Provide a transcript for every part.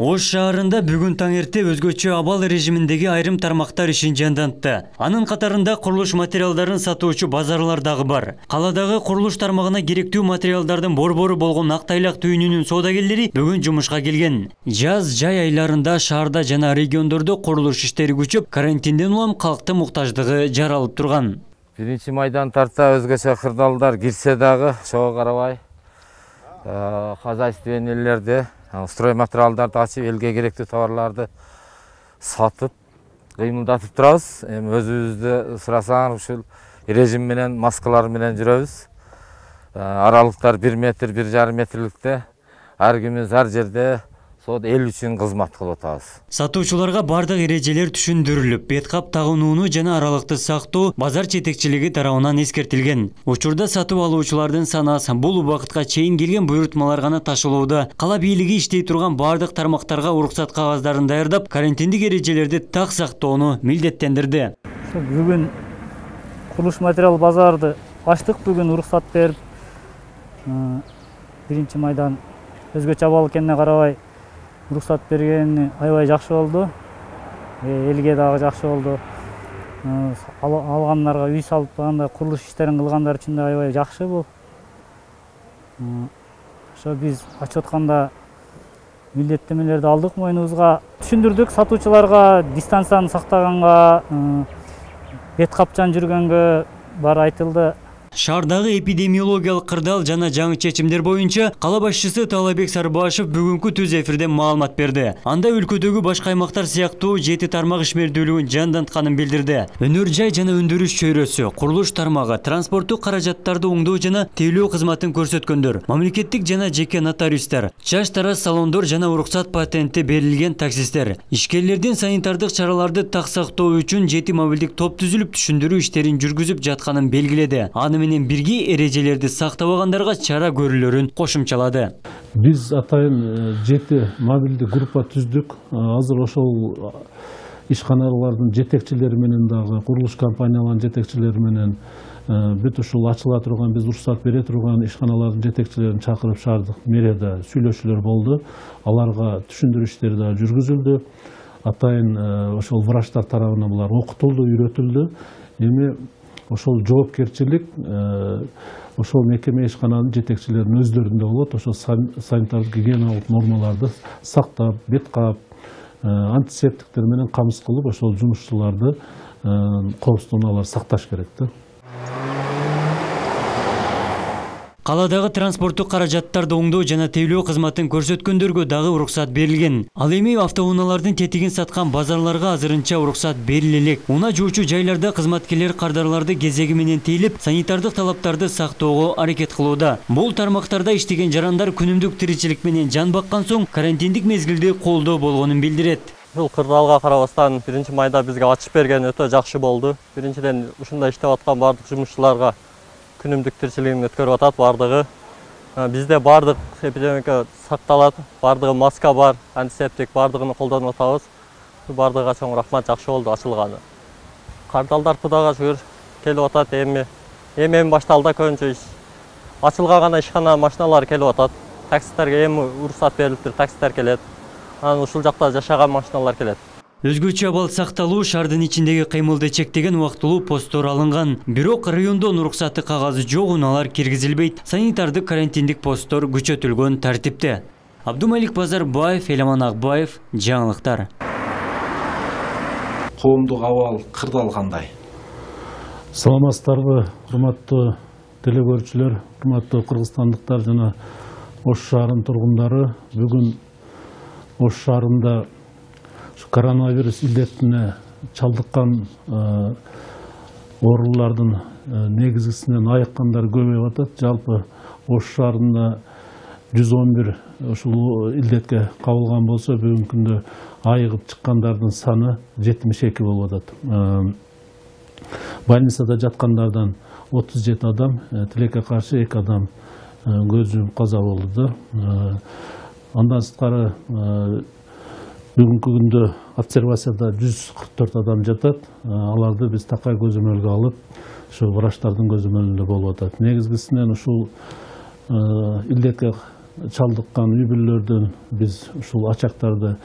Ош шаарында бүгүн таң эрте өзгөчө абал режиминдеги айрым тармактар ишин жандантты. Анын катарында курулуш материалдарын сатуучу базарлар дагы бар. Каладагы курулуш тармагына керектүү материалдардын борбору болгон Актайлак түйүнүнүн соодагерлери бүгүн жумушка келген. Жаз жай айларында шаарда жана региондордо курулуш иштери күчөп, карантинден улам калктын муктаждыгы жаралып турган. 1-майдан тарта өзгөчө кырдаалдар кирсе дагы, ошого карабай хозяйственнийлерди, строй материалдарды ачып, элге керектүү товарларды сатып, кыймылдатып турабыз. Эми өзүбүздү сурасаң, ушул режим менен, маскалар менен жүрөбүз. Аралыктар 1 метр, 1,5 метрликте, ар күнүбүз ар жерде эл үчүн кызмат кылып атабыз. Сатуучуларга бардык эрежелер түшүндүрүлүп, бет кап тагынууну жана аралыкты сактоо базар жетекчилиги тарабынан эскертилген. Учурда сатып алуучулардын санаасы бул убакытка чейин келген буйрутмалар гана ташылууда. Кала бийлиги иштей турган бардык тармактарга уруксат кагаздарын даярдап, карантиндик эрежелерди так сактоону милдеттендирди. Бүгүн курулуш материал базарды ачтык, бүгүн уруксат берип, 1-майдан өзгөчө абал экенине карабай уруксат бергени аябай жакшы болду. Элге дагы жакшы болду. Алгандарга үй салып андай курулуш иштерин кылгандар үчүн да аябай жакшы бул. Ошо биз ачып атканда милдеттемелерди алдык мойнубузга, түшүндүрдүк сатуучуларга, дистанцияны сактаганга, бет капчан жүргөнгө баары айтылды. Шаардагы эпидемиологиялык кырдаал жана жаңы чечимдер боюнча кала башчысы Таалайбек Сарбашев бүгүнкү түз эфирден маалымат берди. Анда өлкөдөгү башка аймактар сыяктуу 7 тармак ишмердүүлүгүн жандантканын билдирди. Өнөр жай жана өндүрүш чөйрөсү, курулуш тармагы, транспорттук каражаттарды оңдоо жана тейлөө кызматын көрсөткөндөр, мамлекеттик жана жеке нотариустар, чач тарас салондор жана уруксат патенти берилген таксисттер. Ишкерлердин санитардык чараларды так сактоо үчүн 7 мобилдик топ түзүлүп, түшүндүрүү иштерин жүргүзүп жатканын белгиледи. Менен бирге эрежелерди сактабагандарга чара көрүлөрүн кошумчалады. Биз атайын 7 мобилдик группа түздүк. Азыр ошол ишканалардын жетекчилери менен дагы, курулуш компанияларынын жетекчилери менен бүт ушул ачыла турган, биз уруксат бере турган ишканалардын жетекчилерин чакырып шаардык мэрияда сүйлөшүүлөр болду. Аларга түшүндүрүү иштери да жүргүзүлдү. Атайын ошол врачтар тарабынан булар окутулду, үйрөтүлдү. Эми ошол жоопкерчилик ошол мекеме ишкананын жетекчилеринин өздөрүндө болот. Ошол санитардык гигиеналык нормаларды сактап, бет кап, антисептиктер менен камсыз кылып, ошол жумушчуларды коопсуздугун алар сакташ керек да. Каладагы транспорттук каражаттарды оңдоо жана тейлөө кызматын көрсөткөндөргө дагы уруксат берилген. Ал эми автоунаалардын тетигин саткан базарларга азырынча уруксат бериле элек. Уна жуучу жайларда кызматкерлер кардарларды кезеги менен тейлеп, санитардык талаптарды сактоого аракет кылууда. Бул тармактарда иштеген жарандар күнүмдүк тиричилик менен жан баккан соң карантиндик мезгилди колдоо болгонун билдирет. Бул кырдаалга карабастан 1-майда бизге ачып берген өтө жакшы болду. Биринчиден ушунда иштеп аткан бардык жумушчуларга күнүмдүк тиричилигин өткөрүп атат бардыгы. Бизде бардык эпидемия сакталат, бардыгы маска бар, антисептик бардыгын колдонуп атабыз. Бардыгыга чоң рахмат, жакшы болду ачылганы. Кардалдар Кудайга шүгүр келип атат, эми башталды көбүнчө иш. Ачылган гана ишкана машиналар келип атат. Таксисттерге эми уруксат берилиптир, таксисттер келет. Анан ушул жакта жашаган машиналар келет. Өзгөчө абал сакталуу, шаардын ичиндеги кыймылды чектеген убактылуу посттор алынган. Бирок райондон уруксаты кагазы жок унаалар киргизилбейт. Санитардык карантиндик посттор күчөтүлгөн тартипте. Абдумалик Базарбаев, Эламан Акбаев, жаңылыктар. Коомдук абал кырдаал кандай? Саламатсыздарбы, урматтуу телекөрүүчүлөр, урматтуу кыргызстандыктар жана Ош шаарынын тургундары. Бүгүн Ош шаарында коронавирус илдетине чалдыккан оорулардын негизгисинен айыккандар көбөйүп атат. Жалпы Ош шаарында 111 ушул илдетке кабылган болсо, бүгүнкү күндө айыгып чыккандардын саны 72 болуп атат. Больницада жаткандардан 37 адам, тилекке каршы 2 адам көз жумуп каза болду. Андан сырткары бүгүнкү күндө обсервацияда 144 адам жатат. Аларды биз такай көзөмөлгө алып, ушу врачтардын көзөмөлүндө болуп атат. Негизгисинен ушул илдетке чалдыккан үй бүлөлөрдөн биз ушул ачактарды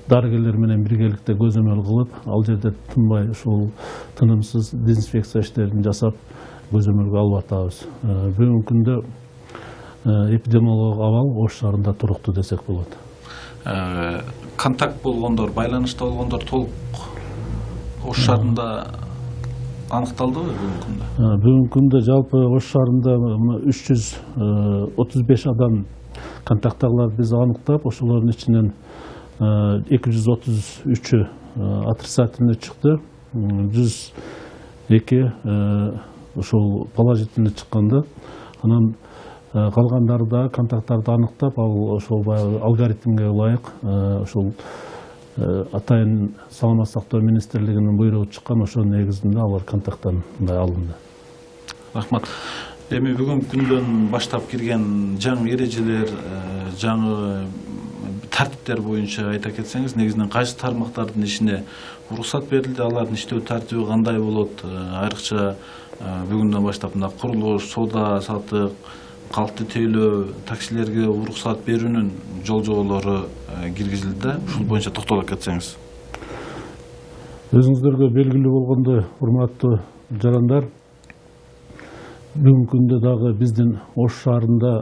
дарыгерлер менен биргеликте көзөмөл кылып, ал жерде тынбай ушул тынымсыз дезинфекция иштерин жасап көзөмөлгө алып атабыз. Бүгүнкү күндө эпидемиологиялык абал Ош шаарында туруктуу десек болот. Контакт болгондор, байланышта болгондор толук Ош шаарында аныкталдыбы бүгүнкү күндө? Бүгүнкү күндө жалпы Ош шаарында 335 адам контакттагыларды биз аныктап, ошолордун ичинен 233-ü отрицательный чыкты, 102 ошол положительный чыкканда, анан калгандары да контакттарды аныктап, ал ошол алгоритмге ылайык ошол атайын саламаттык сактоо министрлигинин буйругу чыккан, ошонун негизинде алар контакттан алынды. Рахмат. Эми бүгүнкү күндөн баштап кирген жаңы эрежелер, жаңы тартиптер боюнча айта кетсеңиз, негизинен кайсы тармактардын ишине уруксат берилди, алардын иштөө тартиби кандай болот? Айрыкча бүгүндөн баштап мына курулуш, соода сатык, калкты тейлөө, таксилерге уруксат берүүнүн жол жоболору киргизилди. Ушул боюнча токтолуп кетсеңиз. Өзүңүздөргө белгилүү болгондой, урматтуу жарандар, бүгүнкү күндө дагы биздин Ош шаарында,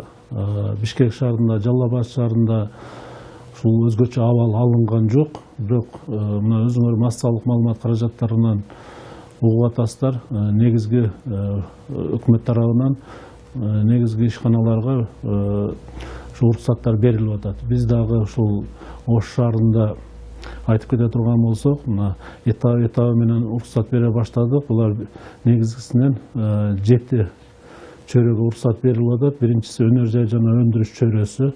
Бишкек шаарында, Жалал Абад шаарында ушул өзгөчө абал алынган жок. Бирок мына өзүңөр массалык маалымат каражаттарынан угуп атасыздар, негизги өкмөт тарабынан негизги ишканаларга уруксаттар берилип атат. Биз дагы ушул Ош шаарында айтып кете турган болсок, мына этабы менен уруксат бере баштадык. Булар негизгисинен 7 чөйрөгө уруксат берилип атат. Биринчиси өнөр жай жана өндүрүш чөйрөсү,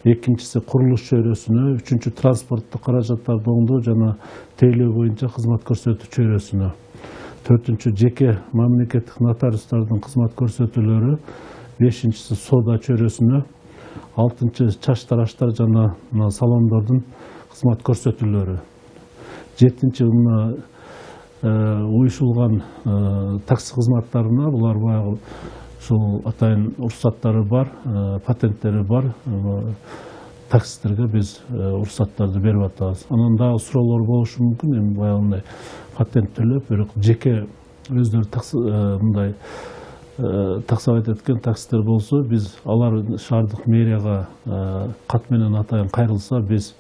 экинчиси курулуш чөйрөсүнө, үчүнчү транспорттук каражаттарды оңдоо жана тейлөө боюнча кызмат көрсөтүү чөйрөсүнө, төртүнчү жеке мамлекеттик нотариустардын кызмат көрсөтүүлөрү, бешинчиси соода чөйрөсүнө, алтынчы чач тараштар жана салондордун кызмат көрсөтүүлөрү, жетинчи уюшулган такси кызматтарына, булар баягы ушул атайын уруксаттары бар, патенттери бар таксистерге биз уруксаттарды берип атабыз. Анан дагы суроолор болушу мүмкүн, эми баягындай патент төлөп, бирок жеке өздөрү мындай таксовать эткен таксистер болсо, биз алар шаардык мэрияга кат менен атайын кайрылса, биз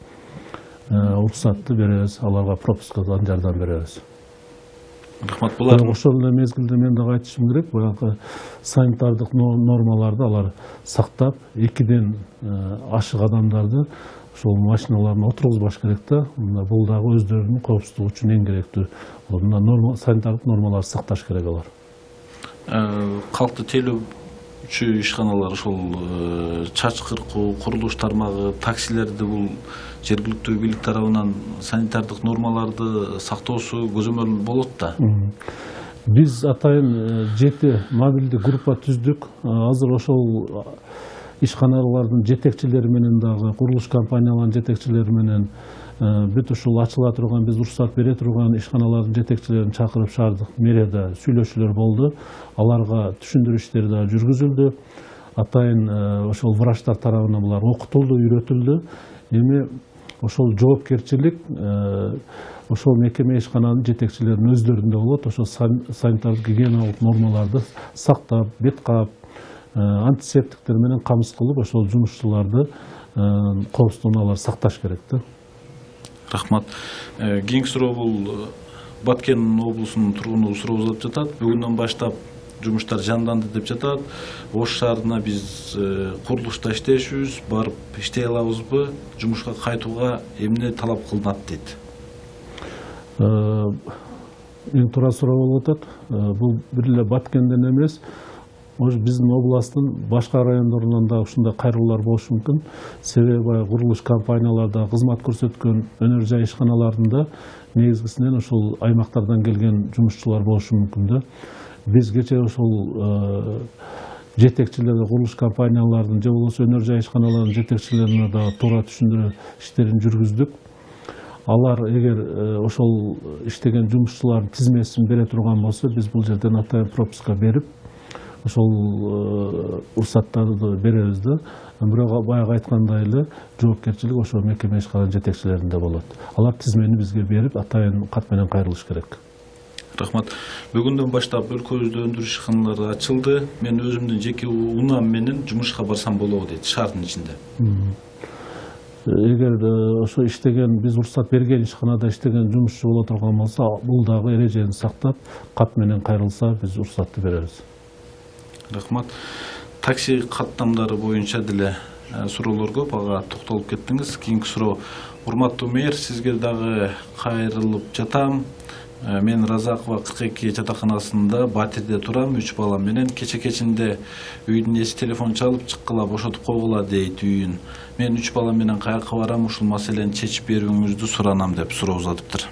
уруксатты беребиз, аларга пропускадан жардам беребиз. Рахмат. Булар ошол эле мезгилде мен дагы айтышым керек, баягы санитардык нормаларды алар сактап, 2ден ашык адамдарды ошол машиналарына отургузбаш керек да. Бул дагы өздөрүнүн коопсуздугу үчүн эң керектүү. Санитардык нормаларды сакташ керек алар. Калкты тейлөөчү ишканалар ошол чач кыркуу, курулуш тармагы, таксилерди бул жергиликтүү бийлик тарабынан санитардык нормаларды сактоосу көзөмөл болот да. Биз атайын 7 мобилдик группа түздүк. Азыр ошол ишканалардын жетекчилери менен дагы, курулуш компанияларынын жетекчилери менен бүт ушул ачыла турган, биз уруксат бере турган ишканалардын жетекчилерин чакырып шаардык мэрияда сүйлөшүүлөр болду. Аларга түшүндүрүү иштери да жүргүзүлдү. Атайын ошол врачтар тарабынан булар окутулду, үйрөтүлдү. Эми ошол жоопкерчилик ошол мекеме ишкананын жетекчилеринин өздөрүндө болот. Ошол санитардык гигиеналык нормаларды сактап, бет каап, антисептиктер менен камсыз кылып, ошол жумушчуларды коопсуздугун алар сакташ керек да. Рахмат. Кийинки суроо бул Баткен облусунун тургуну суроо жазып жатат. Бүгүндөн баштап жумуштар жанданды деп жатат. Ош шаарына биз курулушта иштешүбүз, барып иштей алабызбы? Жумушка кайтууга эмне талап кылынат дейт. Эң туура суроо болуп атат. Бул бир эле Баткенден эмес, биздин областтын башка райондорунан да ушундай кайрылуулар болушу мүмкүн. Себеби курулуш компанияларда кызмат көрсөткөн өнөр жай ишканаларында негизгисинен ушул аймактардан келген жумушчулар болушу мүмкүн да. Биз кечээ ошол жетекчилерге, курулуш компаниялардын же болбосо өнөр жай ишканаларынын жетекчилерине да туура түшүндүрүү иштерин жүргүздүк. Алар эгер ошол иштеген жумушчулардын тизмесин бере турган болсо, биз бул жерден атайын пропуска берип, ошол уруксаттарды беребиз да. Бирок баягы айткандай эле жоопкерчилик ошо мекеме ишкана жетекчилеринде болот. Алар тизмени бизге берип, атайын кат менен кайрылыш керек. Рахмат. Бүгүндөн баштап өлкөбүздө өндүрүш ишканалары ачылды. Мен өзүмдүн жеке унаам менен жумушка барсам болобу дейт шаардын ичинде. Эгер ошо иштеген, биз уруксат берген ишканада иштеген жумушчу боло турган болсо, бул дагы эрежени сактап, кат менен кайрылса, биз уруксатты беребиз. Рахмат. Такси каттамдары боюнча деле суроолор көп, ага токтолуп кеттиңиз. Кийинки суроо: урматтуу мэр, сизге дагы кайрылып жатам. Мен Разакова 42 жатаканасында Батирде турам, 3 балам менен. Кечинде үйдүн эси телефон чалып, чыккыла бошотуп койгула дейт үйүн. Мен 3 балам менен каяка барам, ушул маселени чечип берүүңүздү суранам деп суроо узатыптыр.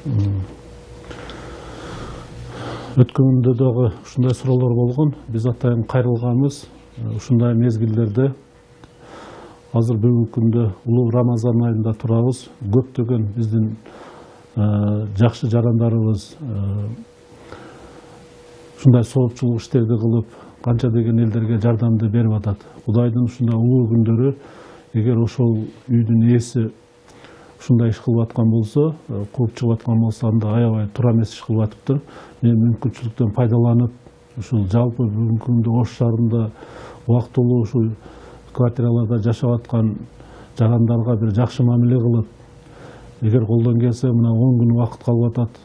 Өткөндө дагы ушундай суроолор болгон. Биз атайын кайрылганбыз. Ушундай мезгилдерде азыр бүгүнкү күндө улуу Рамазан айында турабыз. Көптөгөн биздин жакшы жарандарыбыз ушундай соопчулук иштерди кылып, канча деген элдерге жардамды берип атат. Кудайдын ушундай улуу күндөрү, эгер ошол үйдүн ээси ушундай иш кылып аткан болсо, кууп чыгып аткан болсо, анда аябай туура эмес иш кылып атыптыр. Мен мүмкүнчүлүктөн пайдаланып, ушул жалпы бүгүнкү күндө Ош шаарында убактылуу ушул квартираларда жашап аткан жарандарга бир жакшы мамиле кылып, эгер колдон келсе, мына 10 күн убакыт калып атат,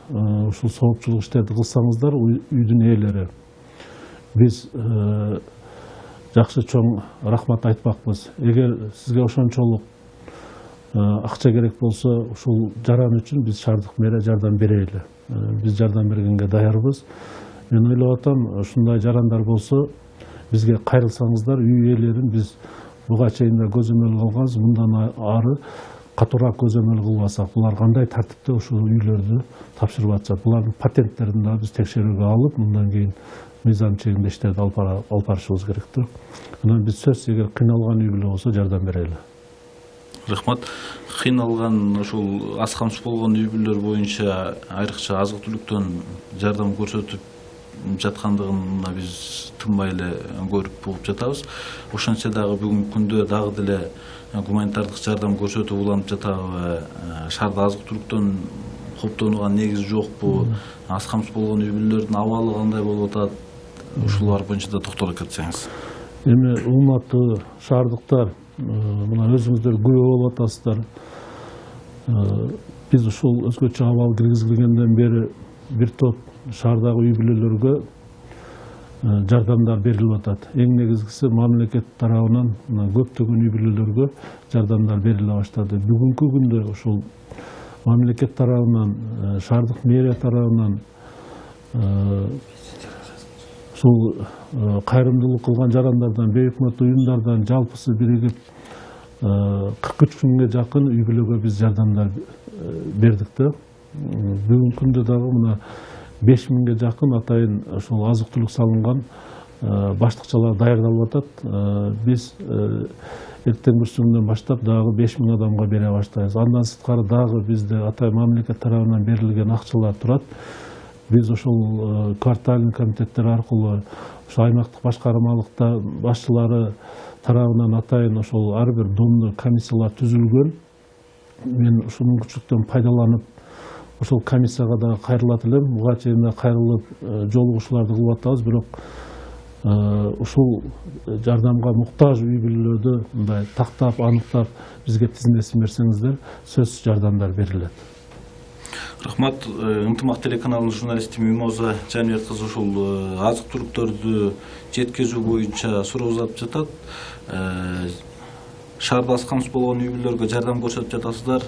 ушул соопчулук иштерди кылсаңыздар, үйдүн ээлери, биз жакшы чоң рахмат айтпакпыз. Эгер сизге ошончолук акча керек болсо, ушул жаран үчүн биз шаардык мэрия жардам берели. Биз жардам бергенге даярбыз. Мен ойлоп атам, ушундай жарандар болсо, бизге кайрылсаңыздар, үй ээлерин биз буга чейин да көзөмөл кылганбыз. Мындан ары катуураак көзөмөл кылбасак, булар кандай тартипте ушул үйлөрдү тапшырып атышат. Булардын патенттерин да биз текшерүүгө алып, мындан кийин мыйзам чегинде иштерди алып барышыбыз керек да. Анан биз сөзсүз эгер кыйналган үй бүлө болсо жардам берели. Рахмат. Кыйналган, ошол аз камсыз болгон үй бүлөлөр боюнча айрыкча азык-түлүктөн жардам көрсөтүп жаткандыгына биз тынбай эле көрүп угуп жатабыз. Ошончо дагы бүгүнкү күндө дагы деле гуманитардык жардам көрсөтүп уланып жатабы? Шаарда азык-түлүктөн коптонууга негиз жокпу? Аз камсыз болгон үй бүлөлөрдүн абалы кандай болуп атат? Ушулар боюнча да токтолуп кетсеңиз. Эми урматтуу шаардыктар, мына өзүңүздөр күбө болуп атасыздар. Биз ушул өзгөчө абал киргизилгенден бери бир топ шаардагы үй бүлөлөргө жардамдар берилип атат. Эң негизгиси мамлекет тарабынан көптөгөн үй бүлөлөргө жардамдар бериле баштады. Бүгүнкү күндө ушул мамлекет тарабынан, шаардык мэрия тарабынан ушул кайрымдуулук кылган жарандардан, бейөкмөт уюмдардан жалпысы биригип 43 миңге жакын үй бүлөгө биз жардамдар бердик да. Бүгүнкү күндө дагы мына 5 миңге жакын атайын ошол азык-түлүк салынган баштыкчалар даярдалып атат. Биз эртең бүрсүңдөн баштап дагы 5 миң адамга бере баштайбыз. Андан сырткары дагы бизде атайын мамлекет тарабынан берилген акчалар турат. Биз ошол квартальный комитеттер аркылуу ошо аймактык башкармалыкта башчылары тарабынан атайын ошол ар бир домдо комиссиялар түзүлгөн. Мен ушул мүмкүнчүлүктөн пайдаланып ошол комиссияга да кайрылат элем. Буга чейин да кайрылып жолугушууларды кылып атабыз, бирок ушул жардамга муктаж үй бүлөлөрдү мындай тактап, аныктап бизге тизмесин берсеңиздер, сөзсүз жардамдар берилет. Рахмат. Ынтымак телеканалынын журналисти Мимоза Жаныбек кызы ушул азык-түлүктөрдү жеткизүү боюнча суроо узатып жатат. Шаарда аз камсыз болгон үй бүлөлөргө жардам көрсөтүп жатасыздар.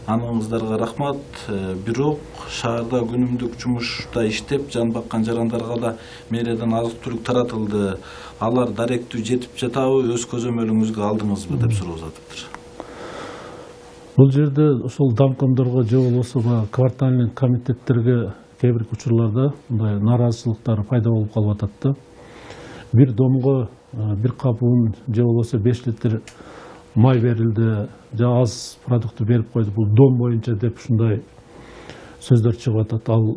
Аныңыздарга рахмат. Бирок шаарда күнүмдүк жумушта иштеп жан баккан жарандарга да мэриядан азык-түлүк таратылды. Алар даректүү жетип жатабы? Өз көзөмөлүңүзгө алдыңызбы деп суроо узатыптыр. Бул жерде ошол домкомдорго же болбосо квартальный комитеттерге кээ бир учурларда мындай нааразычылыктар пайда болуп калып атат да. Бир домго бир кап un же болбосо 5 литр май берилди, же аз продукты берип койду, бул дом боюнча деп ушундай сөздөр чыгып атат. Ал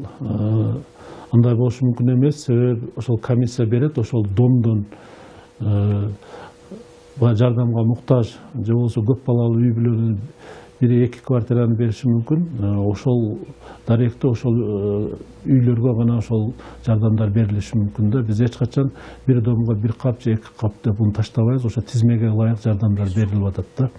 андай болушу мүмкүн эмес. Себеби ошол комиссия берет, ошол домдон жардамга муктаж же болбосо көп балалуу үй бүлөнүн 1-2 квартираны бериши мүмкүн. Ошол даректе ошол үйлөргө гана ошол жардамдар берилиши мүмкүн да. Биз эч качан бир домго 1 кап же 2 кап деп буну таштабайбыз. Ошо тизмеге ылайык жардамдар берилип атат да.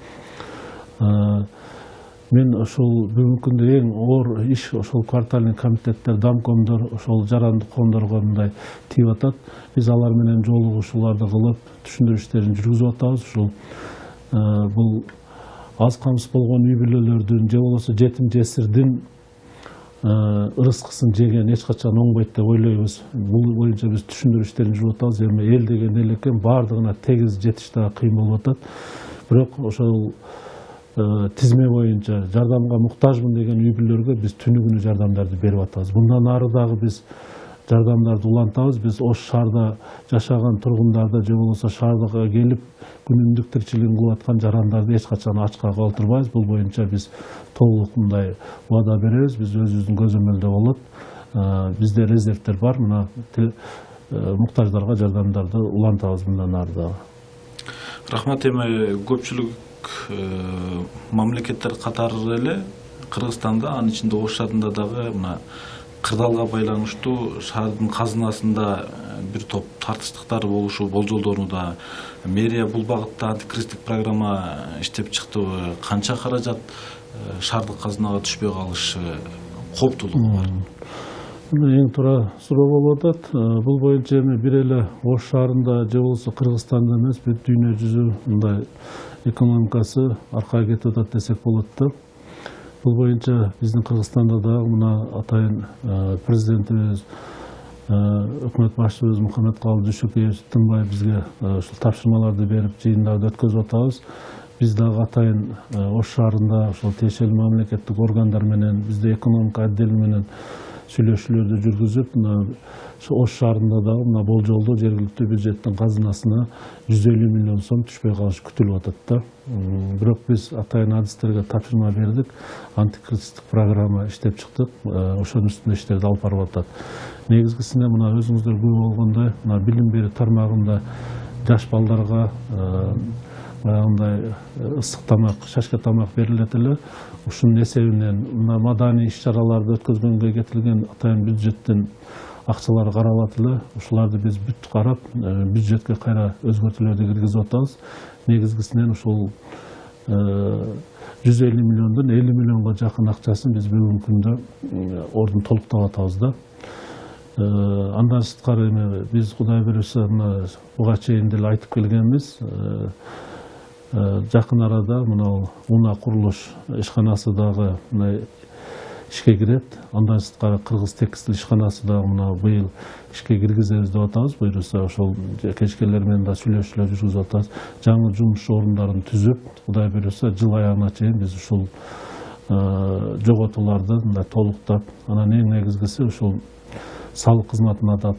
Мен ошол бүгүнкү күндө эң оор иш ошол квартальный комитеттер, домкомдор, ошол жарандык коомдорго мындай тийип атат. Биз алар менен жолугушууларды кылып, түшүндүрүү иштерин жүргүзүп атабыз. Ушул бул аз камсыз болгон үй бүлөлөрдүн же болбосо жетим жесирдин ырыскысын жеген эч качан оңбойт деп ойлойбуз. Бул боюнча биз түшүндүрүү иштерин жүргүзүп атабыз. Эми эл деген эл экен, баардыгына тегиз жетиш дагы кыйын болуп атат. Бирок ошол тизме боюнча жардамга муктажмын деген үй бүлөлөргө биз түнү-күнү жардамдарды берип атабыз. Мындан ары дагы биз жардамдарды улантабыз. Биз Ош шаарда жашаган тургундарды же болбосо шаардага келип күнүмдүк тиричилигин кылып аткан жарандарды эч качан ачка калтырбайбыз. Бул боюнча биз толук мындай убада беребиз. Биз өзүбүздүн көзөмөлдө болот. Бизде резервдер бар. Мына муктаждарга жардамдарды улантабыз мындан ары дагы. Рахмат. Эми көпчүлүк мамлекеттер катары эле Кыргызстанда, анын ичинде Ош шаарында дагы мына кырдаалга байланыштуу шаардын казынасында бир топ тартыштыктар болушу болжолдонууда. Мэрия бул багытта антикризистик программа иштеп чыктыбы? Канча каражат шаардык казынага түшпөй калышы кооптуулугу бар? Эң туура суроо болуп атат. Бул боюнча эми бир эле Ош шаарында же болбосо Кыргызстанда эмес, бүт дүйнө жүзү мындай экономикасы аркага кетип атат десек болот да. Бул боюнча биздин Кыргызстанда дагы мына атайын президентибиз, өкмөт башчыбыз Мухаммедкалый Дүйшөкеев тынбай бизге ушул тапшырмаларды берип, жыйындарды өткөзүп атабыз. Биз дагы атайын Ош шаарында ошол тиешелүү мамлекеттик органдар менен, бизде экономика отдели менен сүйлөшүүлөрдү жүргүзүп, Ош шаарында дагы мына болжолдуу жергиликтүү бюджеттин казынасына 150 миллион сом түшпөй калышы күтүлүп атат да. Бирок биз атайын адистерге тапшырма бердик, антикризистик программа иштеп чыктык, ошонун үстүндө иштерди алып барып атат. Негизгисине мына өзүңүздөр күбө болгондой, мына билим берүү тармагында жаш балдарга баягындай ысык тамак, шашка тамак берилет эле. Ушунун эсебинен мына маданий иш-чараларды өткөзгөнгө кетилген атайын бюджеттин акчалары каралат эле. Ушуларды биз бүт карап, бюджетке кайра өзгөртүүлөрдү киргизип атабыз. Негизгисинен ушул 150 миллиондон 50 миллионго жакын акчасын биз бүгүнкү күндө ордун толуктап атабыз да. Андан сырткары эми биз Кудай буйруса мына буга чейин деле айтып келгенбиз. Жакын арада мына Уна курулуш ишканасы дагы ишке кирет. Андан сырткары Кыргыз текстиль ишканасы дагы мына быйыл ишке киргизебиз деп атабыз. Буйруса ошол кечкелер менен да сүйлөшүүлөр жүргүзүп атабыз. Жаңы жумуш орундарын түзүп, Кудай буйруса жыл аягына чейин биз ушул жоготууларды мындай толуктап, анан эң негизгиси ушул салык кызматына да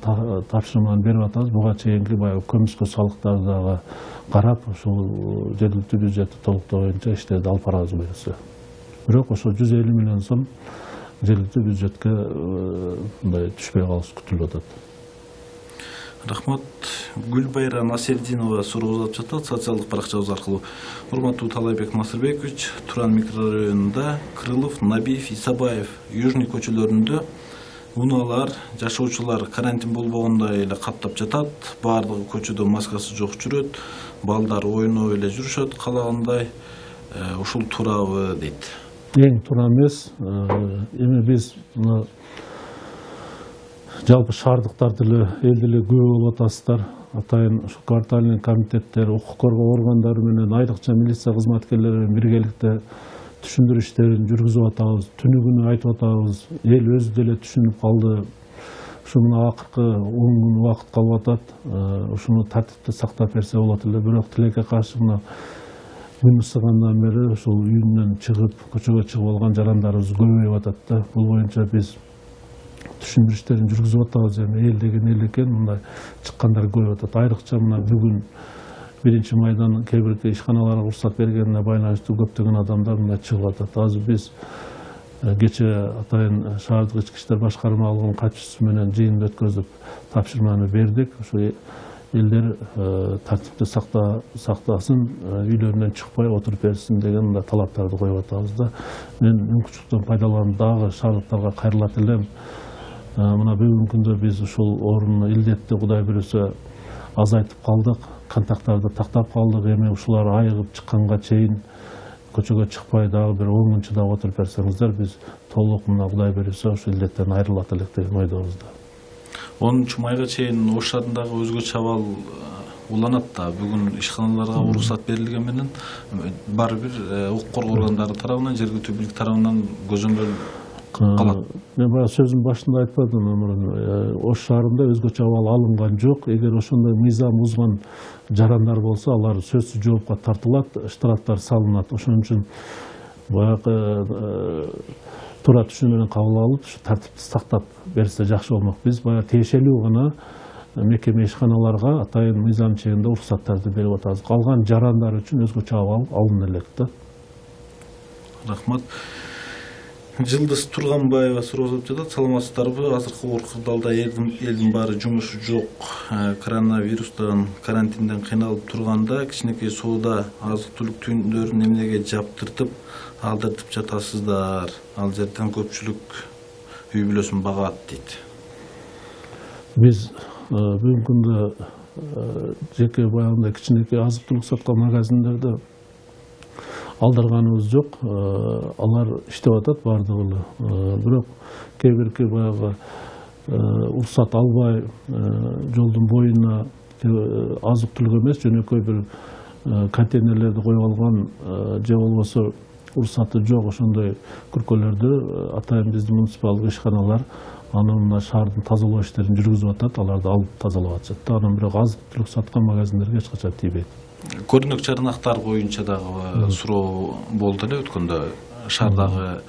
тапшырманы берип атабыз. Буга чейинки баягы көмүскө салыктарды дагы карап, ушул жергиликтүү бюджетти толуктоо боюнча иштерди алып барабыз буюрса. Бирок ошо 150 миллион сом жергиликтүү бюджетке мындай түшпөй калышы күтүлүп атат. Рахмат. Гүлбайра Насердинова суроо жатат социалдык баракчабыз аркылуу. Урматтуу Талайбек Насырбекович, Туран микрорайонунда Крылов, Набиев, Исабаев, Южный көчөлөрүндө унаалар, жашоочулар карантин болбогондой эле каптап жатат. Баардыгы көчөдө маскасы жок жүрөт. Балдар ойноп эле жүрүшөт калагандай. Ушул туурабы дейт. Эң туура эмес. Эми биз жалпы шаардыктар деле эл деле күбө болуп атасыздар. Атайын ушу квартальный комитеттер, укук коргоо органдары менен, айрыкча милиция кызматкерлери менен биргеликте түшүндүрүү иштерин жүргүзүп атабыз. Түнү-күнү айтып атабыз. Эл өзү деле түшүнүп калды. Ушу мына акыркы 10 күн убакыт калып атат. Ушуну тартипти сактап берсе болот эле. Бирок тилекке каршы мына күн ысыгандан бери ушул үйүнөн чыгып, көчөгө чыгып алган жарандарыбыз көбөйүп атат да. Бул боюнча биз түшүндүрүү иштерин жүргүзүп атабыз. Эми эл деген эл экен, мындай чыккандар көбөйүп атат. Айрыкча мына бүгүн 1 майдан кээ бир ишканаларга уруксат бергенине байланыштуу көптөгөн адамдар мына чыгып атат. Азыр биз кече атайын шаардык ички иштер башкармалыгынын катчысы менен жыйын өткөзүп тапшырманы бердик. Ошо элдер тартипти сактасын, үйлөрүнөн чыкпай отуруп берсин деген мындай талаптарды коюп атабыз да. Мен мүмкүнчүлүктөн пайдаланып дагы шаардыктарга кайрылат элем. Мына бүгүнкү күндө биз ушул орунну илдетти Кудай буюрса азайтып калдык, контакттарды тактап калдык. Эми ушулар айыгып чыкканга чейин көчөгө чыкпай дагы бир 10 күн чыдап отуруп берсеңиздер, биз толук мына Кудай буюрса ушул илдеттен айрылат элек деген ойдобуз да. 10 майга чейин Ош шаарындагы өзгөчө абал уланат да. Бүгүн ишканаларга уруксат берилген менен баары бир укук коргоо органдары тарабынан, жергиликтүү бийлик тарабынан көзөмөл калат. Мен баягы сөзүмдүн башында айтпадым мурун, Ош шаарында өзгөчө абал алынган жок. Эгер ошондой мыйзам бузган жарандар болсо, алар сөзсүз жоопко тартылат, штрафтар салынат. Ошон үчүн баягы туура түшүнүү менен кабыл алып, ушу тартипти сактап берсе жакшы болмок. Биз баягы тиешелүү гана мекеме ишканаларга атайын мыйзам чегинде уруксаттарды берип атабыз. Калган жарандар үчүн өзгөчө абал алына элек да. Рахмат. Жылдыз Турганбаева суроолоп жатат. Саламатсыздарбы? Азыркы кырдаалда элдин баары жумушу жок, коронавирустан, карантинден кыйналып турганда кичинекей соода азык-түлүк түйүндөрүн эмнеге жаптыртып алдыртып жатасыздар? Ал жерден көпчүлүк үй бүлөсүн багат дейт. Биз бүгүнкү күндө жеке баягындай кичинекей азык-түлүк саткан магазиндерде алдырганыбыз жок. Алар иштеп атат бардыгы эле. Бирок кээ бирки баягы уруксат албай жолдун боюна азык-түлүк эмес, жөнөкөй бир контейнерлерди коюп алган же болбосо уруксаты жок ошондой күркөлөрдү атайын биздин муниципалдык ишканалар анын шаардын тазалоо иштерин жүргүзүп атат. Аларды алып тазалап атышат. Анан бирок азык-түлүк саткан магазиндерге эч качан тийбейт. Көрүнөк жарнактар боюнча дагы суроо болду эле өткөндө. Шаардагы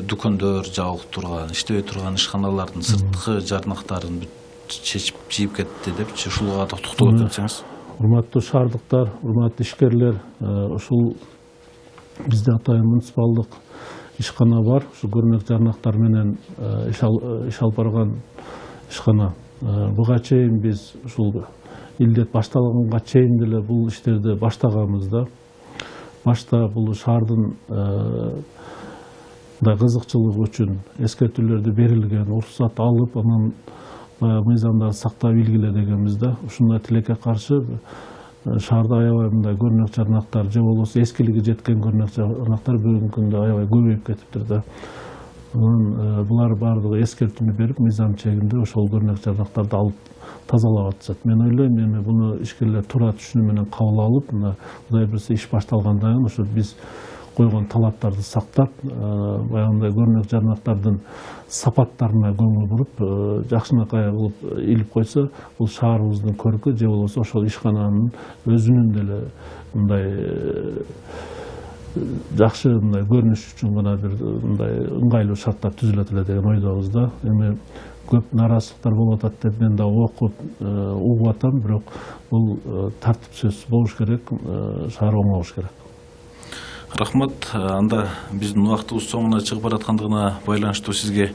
дүкөндөр жабылып турган, иштебей турган ишканалардын сырткы жарнактарын чечип жийип кетти депчи, ушуга да токтолуп кетсеңиз. Урматтуу шаардыктар, урматтуу ишкерлер, ушул бизде атайын муниципалдык ишкана бар. Ушу көрүнөк жарнактар менен иш алып барган ишкана. Буга чейин биз ушул илдет башталганга чейин деле бул иштерди баштаганбыз да. Башта бул шаардын кызыкчылыгы үчүн эскертүүлөрдү берилген, уруксат алып, анан мыйзамдарды сактап илгиле дегенбиз да. Ушундай тилекке каршы шаарда аябай мындай көрүнөк жарнактар же болбосо эскилиги жеткен көрүнөк жарнактар бүгүнкү күндө аябай көбөйүп кетиптир да. Булар баардыгы эскертүүнү берип, мыйзам чегинде ошол көрүнөк жарнактарды алып тазалап атышат. Мен ойлойм, эми буну ишкерлер туура түшүнүү менен кабыл алып, мына Кудай буюрса иш башталгандан кийин ошо биз койгон талаптарды сактап, баягындай көрүнөк жарнактардын сапаттарына көңүл буруп, жакшынакай кылып илип койсо, бул шаарыбыздын көркү же болбосо ошол ишкананын өзүнүн деле мындай жакшы мындай көрүнүш үчүн гана бир мындай ыңгайлуу шарттар түзүлөт эле деген ойдобуз да. Эми көп нараазычылыктар болуп атат деп мен да окуп угуп атам, бирок бул тартипсиз болуш керек, шаар оңолуш керек. Рахмат. Анда биздин убактыбыз соңуна чыгып бараткандыгына байланыштуу сизге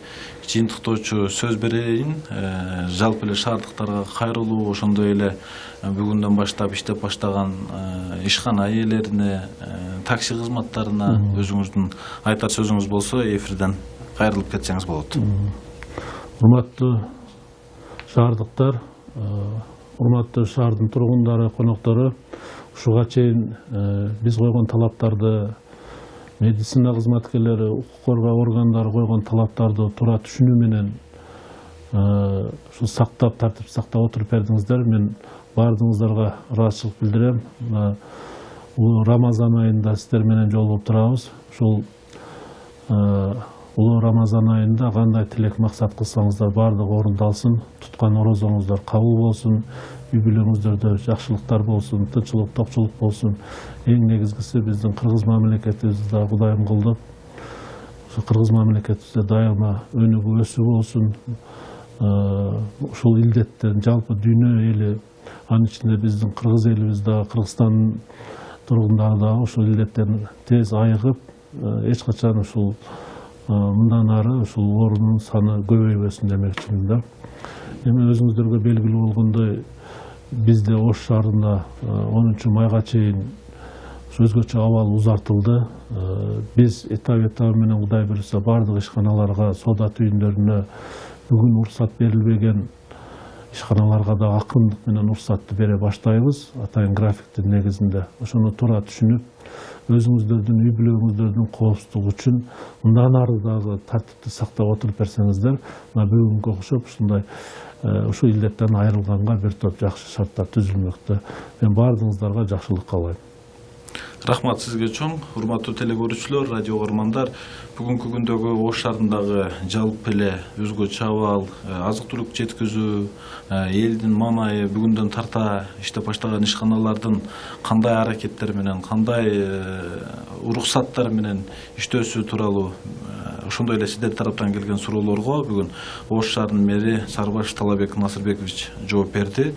жыйынтыктоочу сөз берейин. Жалпы эле шаардыктарга кайрылуу, ошондой эле бүгүндөн баштап иштеп баштаган ишкана ээлерине, такси кызматтарына өзүңүздүн айтар сөзүңүз болсо, эфирден кайрылып кетсеңиз болот. Урматтуу шаардыктар, урматтуу шаардын тургундары, коноктору, ушуга чейин биз койгон талаптарды, медицина кызматкерлери, укук коргоо органдары койгон талаптарды туура түшүнүү менен ушу сактап, тартип сактап отуруп бердиңиздер. Мен баардыгыңыздарга ыраазычылык билдирем. Улуу Рамазан айында сиздер менен жолугуп турабыз. Ушул улуу Рамазан айында кандай тилек максат кылсаңыздар баардыгы орундалсын, туткан орозоңуздар кабыл болсун, үй бүлөңүздөрдө жакшылыктар болсун, тынччылык, токчулук болсун. Эң негизгиси биздин кыргыз мамлекетибизде Кудайым кылдып, ошо кыргыз мамлекетибизде дайыма өнүгүү өсүү болсун. Ушул илдеттен жалпы дүйнө эли, анын ичинде биздин кыргыз элибиз дагы, Кыргызстандын тургундары дагы ушул илдеттен тез айыгып, эч качан ушул мындан ары ушул оорунун саны көбөйбөсүн демекчимин да. Эми өзүңүздөргө белгилүү болгондой бизде Ош шаарында 10 майга чейин өзгөчө абал узартылды. Биз этап менен Кудай буйруса бардык ишканаларга, соода түйүндөрүнө бүгүн уруксат берилбеген ишканаларга да акырындык менен уруксатты бере баштайбыз. Атайын графиктин негизинде. Ошону туура түшүнүп, өзүңүздөрдүн үй бүлөңүздөрдүн коопсуздугу үчүн мындан ары дагы тартипти сактап отуруп берсеңиздер, мына бүгүнкү окшоп ушундай ушул илдеттен айрылганга бир топ жакшы шарттар түзүлмөктө. Мен баардыгыңыздарга жакшылык каалайм. Рахмат сизге чоң. Урматтуу теле көрүүчүлөр, радио көрмандар, бүгүнкү күндөгү Ош шаарындагы жалпы эле өзгөчө абал, азык-түлүк жеткизүү, элдин маанайы бүгүндөн тарта иштеп баштаган ишканалардын кандай аракеттер менен, кандай уруксаттар менен иштөөсү тууралуу ошондой эле сиздер тараптан келген суроолорго бүгүн Ош шаарынын мэри Сарыбашев Талабек Насырбекович жооп берди.